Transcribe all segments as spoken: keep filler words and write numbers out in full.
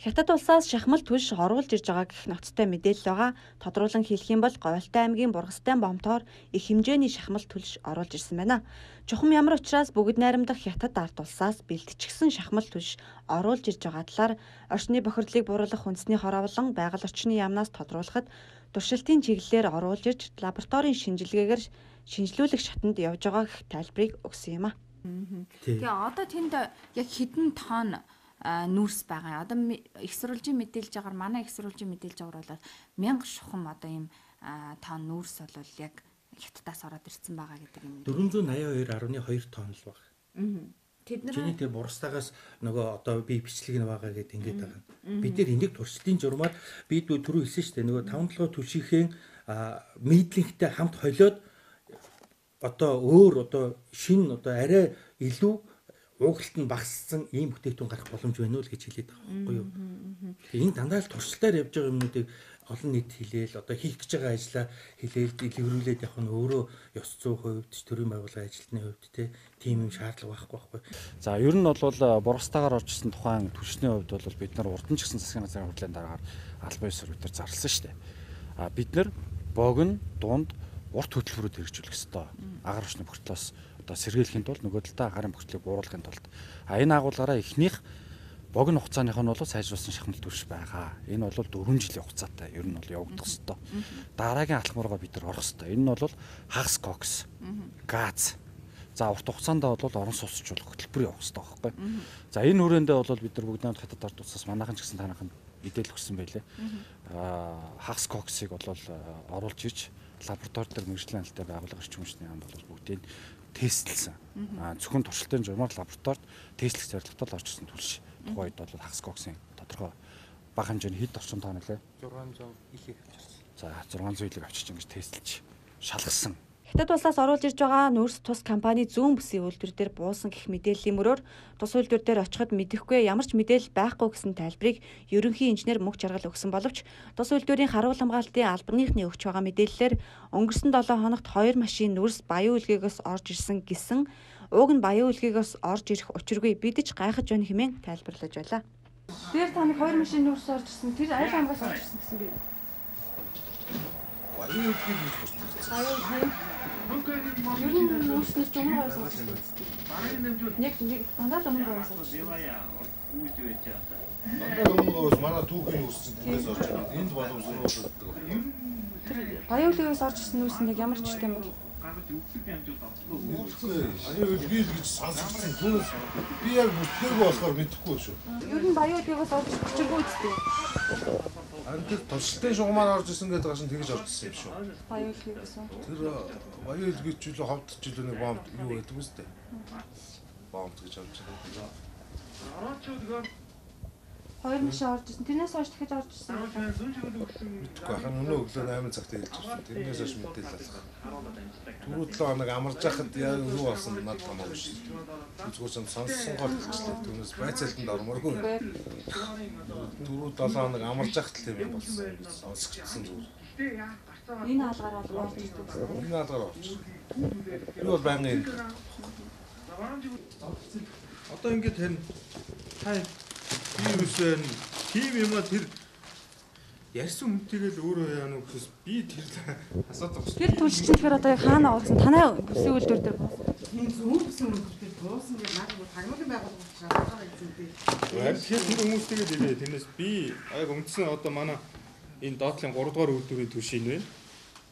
Хятад улсаас шахмал түлш оруулж ирж байгаа гэх ноцтой мэдээлэл байгаа. Тодруулан хэлэх юм бол Говьалтай аймгийн Бургастай бомтоор их хэмжээний шахмал түлш оруулж ирсэн байна. Чухам ямар учраас бүгд найрамдах Хятад ард улсаас бэлтжигсэн шахмал түлш оруулж ирж байгаа талаар орчны бохирдлыг бууруулах үндэсний хор авлан байгаль орчны яамнаас тодруулахад туршилтын чиглэлээр оруулж ирж лабораторийн шинжилгээгээр шинжилүүлэх шатанд явж байгаа гэх тайлбарыг өгсөн юм а. Тэгээ одоо тэнд яг хэдэн тонн нүүрс байгаа. Одоо их сурвалжийн мэдээлж байгаагаар манай их сурвалжийн мэдээлж байгаагаар бол мянга шухам одоо ийм тонн нүүрс бол яг Хятадаас ороод ирсэн байгаа гэдэг юм. дөрвөн восемьдесят хоёр гаруй хоёр тонн л баг. Тэд нар чиний тэр Бургастаагаас нөгөө одоо би бичлэг нь байгаа гэдэг ингэж байгаа. Бид нэр энийг туршилтын журмаар би түрүү хэлсэн шүү дээ. Нөгөө таван толгой түлшийнхээ мейдлинхтэй хамт холиод одоо өөр одоо шин одоо арай илүү уугалт нь багассан ийм бүтээгдэхүүн гарах боломж байна уу л гэж хэлээд байгаа байхгүй юу. Тэгээ энэ дандаа л туршилтаар явж байгаа юмнуудыг олон нийт хэлээл одоо хийх гэж байгаа ажлаа хэлээл дэлгэрүүлээд явах нь өөрөө ёс зүйн хувьд төрийн байгууллагын ажилтны хувьд тийм юм шаардлага байхгүй байхгүй. За ер нь бол Бургастаагаар орж ирсэн тухайн түлшний хувьд бол бид нар урд нь ч гэсэн засгийн газрын хурлын дараагаар албан ёс сурвалжаар зарласан шүү дээ. А бид нар богино дунд урт хөтөлбөрөд хэрэгжүүлэх ёстой. Агаар орчны бохирдлоос одоо сэргийлэхийн тулд нөгөө талдаа гарын бохирдлыг бууруулахын тулд а энэ агуулгаараа эхнийх богино хугацааных нь бол сайжруулсан шахмал түлш байгаа. Энэ бол дөрвөн жилийн хугацаатай ер нь бол явагдах ёстой. Дараагийн алхмаараа бид нар орох ёстой. Энэ нь бол хагас кокс, газ. За урт хугацаанд бол орон сууцчлах хөтөлбөр явах ёстой байхгүй. За энэ хүрээндээ бол бид нар бүгд найрамд Хятад ард улсаас манайхан ч гэсэн танайхан мэдээлэл өгсөн байлээ. Аа хагас коксыг бол оруулж ирж лаборатори дээр мэргэжлийн алтай байгууллага эрчим хүчний яам бол бүгдийг тестлсэн. Аа зөвхөн туршилтын журмаар лабораторид тестлэх зорилготой л орж ирсэн түлш. Тухайд бол хагас коксын тодорхой бага хэмжээний хэд орчим тонн лээ. зургаан зуун илийг авчирсан. За зургаан зуун илийг авчирч ингэж тестлж шалгасан. Хятад улсаас оруулж ирж байгаа нүүрс тус компани зүүн бүсийн үйлдвэр дээр буусан гэх мэдээллийн мөрөөр тус үйлдвэр дээр очиход мэдэхгүй ямар ч мэдээлэл байхгүй гэсэн тайлбарыг ерөнхий инженер Мөнх Жаргал өгсөн боловч тус үйлдвэрийн харуул хамгаалтын албаныхны өгч байгаа мэдээллээр өнгөрсөн долоо хоногт хоёр машин нүүрс баян үлгээгээс орж ирсэн гэсэн уг нь баян үлгээгээс орж ирэх учиргүй бидэж гайхаж байна хэмээн тайлбарлаж байлаа. Тэр таныг хоёр машин нүүрс орж ирсэн тэр аль хамгаас орж ирсэн гэсэн би. Баян үлгээг нь хүрсэн. Баян үлгээг ер нь нүүрснээс жумгаар орсон гэсэн үг. Нэг нэг дандаа жумгаар орсон. Дандаа жумгаар манай түүхийн нүүрсэн түүнээс орж ирсэн. Энд боломжтой болдог. Тэр баян үлгээгээс орж ирсэн нүүрс нь ямар ч юм бэ? Баян үлгээг гэж сонссон. Түүнээс би яг бүтээгүй болохоор мэдэхгүй шүү. Ер нь баян үлгээгээс орж ирчихгүй үстэй. Антик туршилтын шугамаар орж исэн гэдэг гашин тэгж орж исэн юм шүү. Баян үлгээгээс. Тэр баян үлгээг ч үлээ ховдч үлээ нэг бомб юу гэдэг үстэй. Бомб гэж орж ирсэн. Хоёр машин орж ирсэн. Тэрнээс хойш дахиж орж ирсэн. Тэгэхгүй хаа өнөө өглөө восемь цагт хэлж ирсэн. Тэрнээс хойш мэдээлэл алах. Түрүү долоо хоног амарч яхад яг юу болсон надад хамаагүй шүү. Зүгээр сонссон гол хэлчихлээ. Түүнээс байцаалтанд ормооргүй. Түрүү долоо хоног амарч яхад л юм болсон. Сонсгдсон зүгээр. Энэ хаалгаар бол орж ирсэн. Энэ хаалгаар орж. Би бол байнгын Одоо ингэж харин хай вирусээр тийм юм а тэр ярьсан хүнтэйгээл өөрөө яана гэхээс би тэр асууад байгаа шүү. Тэр түлшчин тэгэхээр одоо яг хаана орсон? Танай бүсийн үйлдвэр дээр буусан. Энэ зүүн бүсийн үйлдвэр дээр буусан гэж наад бүр тагнуулын байгууллага шалгаагаа хийсэн дээ. Тэгэхээр тэр хүмүүстэйгээ хэлээ. Тэрнээс би яг үндсэн одоо манай энэ доотлын гурав дугаар үйлдвэрийн түвшин байна.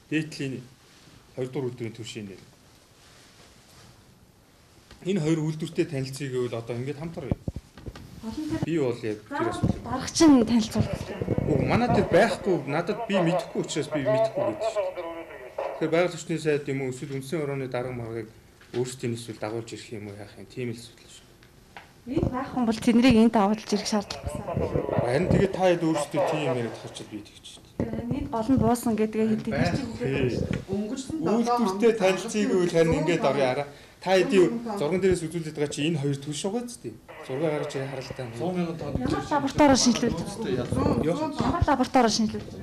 Дээдлийн хоёр дугаар үйлдвэрийн түвшин нэр. Энэ хоёр үйлдвэртэй танилцъя гэвэл одоо ингэж хамтар. Би бол яг тэр асуулт. Дарагч нь танилцуулах. Үгүй манай тэр байхгүй надад би мэдэхгүй учраас би мэдэхгүй гэдэг шүү дээ. Тэгэхээр байгаль орчны сайд юм уу эсвэл үндсэн орооны дарга маргыг өөрсдийн эсвэл дагуулж ирэх юм уу яах юм тийм л асуудал шүү. Энд байх хүн бол тэднийг энд дагуулж ирэх шаардлага байна. Харин тэгээд та хэд өөрсдөө тийм юм яриад харчаад би тэгж шүү дээ. Энд гол нь буусан гэдгээ хэдий чинь Өнгөрсөн үйлдвэртэй танилцъя гэвэл харин ингэж орё араа. Та хэдийн зурган дээрээс үзүүлээд байгаа чи энэ хоёр түвш байгаа зү. Зураг гаргаж харалтаа. сто мянган тонн ямар лабораториор шинжилүүлдэг. Ямар лабораториор шинжилүүлдэг.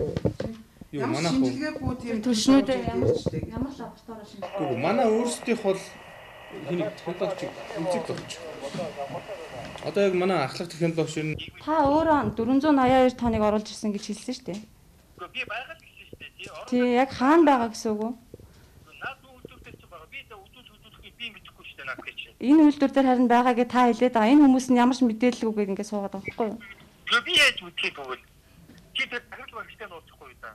Юу манайх уу? шинжилгээгүй тийм Түлшнүүдээ ямар ямар лабораториор шинжилдэг. Манай өөрсдийнх бол хэнийг технологич үзэг болж. Одоо яг манай ахлах технологи шин Та өөрөө дөрвөн зуун ноён хоёр тоног оруулж ирсэн гэж хэлсэн шүү дээ. Би байгаад гэсэн шүү дээ. Тий. Тий, яг хаана байгаа гэсэн үг үү? Наад үйлдвэртэй ч байгаа. Би тэ үзүүл үзүүлэхийг би мэдэхгүй шүү дээ наад гэж. Энэ үйлдвэр дээр харин байгаа гэж та хэлээд байгаа. Энэ хүмүүс нь ямар ч мэдээлэл үгээд ингэ суугаад байгаа байхгүй юу? Би яаж үтгэх вэ? Чи тэр дахил багштай нууцхгүй юу да.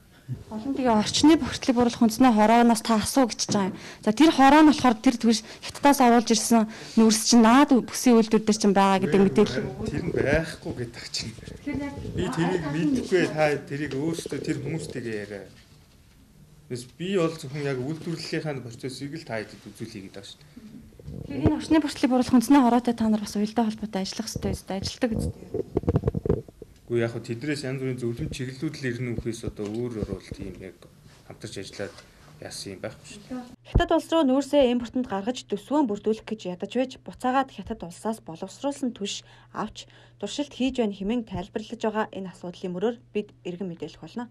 Олон тэгээ орчны бүртлэг буруулах хүнснээ хорооноос та асуу гэж байгаа юм. За тэр хороо нь болохоор тэр түвш хятадаас оруулж ирсэн нүүрс чинь наад бүсийн үйлдвэр дээр чинь байгаа гэдэг мэдээлэл. тэр нь байхгүй гэдэг чинь. Би тэрийг мэдэхгүй та тэрийг өөрсдөө тэр хүмүүстэйгээ яриа. Бис би бол зөвхөн яг үйлдвэрлэлийнхаа процессыг л та хэдэд үзүүлэе гэдэг шүү дээ. Тэгэхээр энэ орчны бүртлэг буруулах хүнснээ хороотой та нар бас уялдаа холбоотой ажиллах хэрэгтэй үстэй ажилтдаг үстэй. Гэхдээ яг хөө тэднээс янз бүрийн зөвлөм чиглэлүүд л ирнэ үхээс одоо өөр орол тийм яг хамтарч ажиллаад яасан юм байхгүй шүү дээ. Хятад улс руу нүүрсээ импортод гаргаж төсвөө бүрдүүлэх гэж ядаж байж буцаагаад хятад улсаас боловсруулсан түвш авч туршилт хийж байна хэмээн тайлбарлаж байгаа энэ асуудлын мөрөөр бид иргэн мэдээлэх болно.